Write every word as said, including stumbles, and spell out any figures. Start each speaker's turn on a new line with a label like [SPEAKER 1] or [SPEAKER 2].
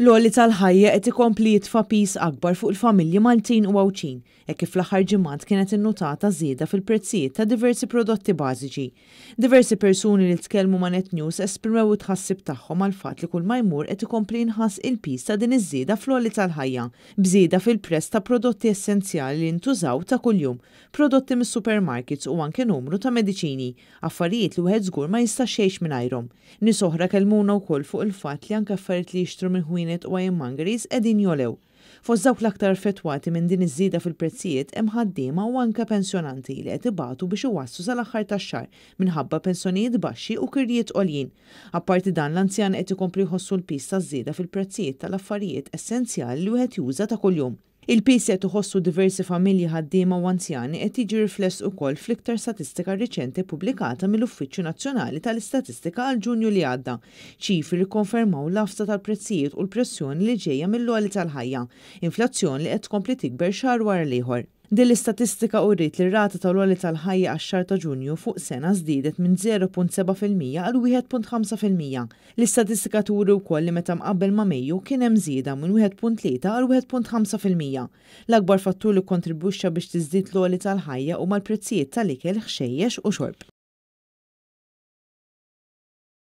[SPEAKER 1] L-għoli tal-ħajja qed ikompli jitfa' piż akbar fuq il-familji Maltin u Għawdxin, hekk kif fl-aħħar ġimgħat kienet innutata żieda fil-prezzijiet ta' diversi prodotti bażiċi. Diversi persuni li tkellmu ma' Net News esprimew it-tħassib tagħhom għall-fatt li kull ma jmur qed ikompli jinħass il-piż ta' din iż-żieda fl-għoli tal-ħajja, b'żieda fil-prezz ta' prodotti essenzjali li jintużaw ta' kuljum, prodotti mis-supermarkets u anke numru ta' mediċini, affarijiet li wieħed żgur ma jistax jgħix mingħajrhom. Nies oħra kellmuna wkoll fuq il-fatt li anke affarijiet li jixtru minn ħwienet u ironmongeries qegħdin jogħlew. Fost dawk l-aktar affettwati minn din iż-żieda fil-prezzijiet hemm ħaddiema u anke pensjonanti li qed ibatu biex iwasslu sal-aħħar tax-xahar minħabba pensjonijiet baxxi u kirjiet għoljin. Apparti dan, l-anzjani qed ikomplu jħossu l-piż taż-żieda fil-prezzijiet tal-affarijiet essenzjali li wieħed juża ta' kuljum. Il-piż li qed iħossu diversi familji, ħaddiema u anzjani qed jiġi rifless ukoll fl-iktar statistika riċenti pubblikata mill-Uffiċċju Nazzjonali tal-Istatistika għal Ġunju li għadda. Ċifri li konfermaw l-għafsa tal-prezzijiet u l-pressjoni li ġejja mill-għoli tal-ħajja, inflazzjoni li qed tkompli tikber xahar wara l-ieħor. Din l-istatistika uriet li r-rata tal-għoli tal-ħajja għax-xahar ta' Ġunju fuq sena żdiedet minn żero punt seba' fil-mija għal wieħed punt ħamsa fil-mija. L-istatistika turi wkoll li meta mqabbel ma' Mejju kien hemm żieda minn wieħed punt tlieta għal wieħed punt ħamsa fil-mija. L-akbar fattur li kontribwixxa biex tiżdied l-għoli tal-ħajja huma l-prezzijiet tal-ikel, ħxejjex u xorb.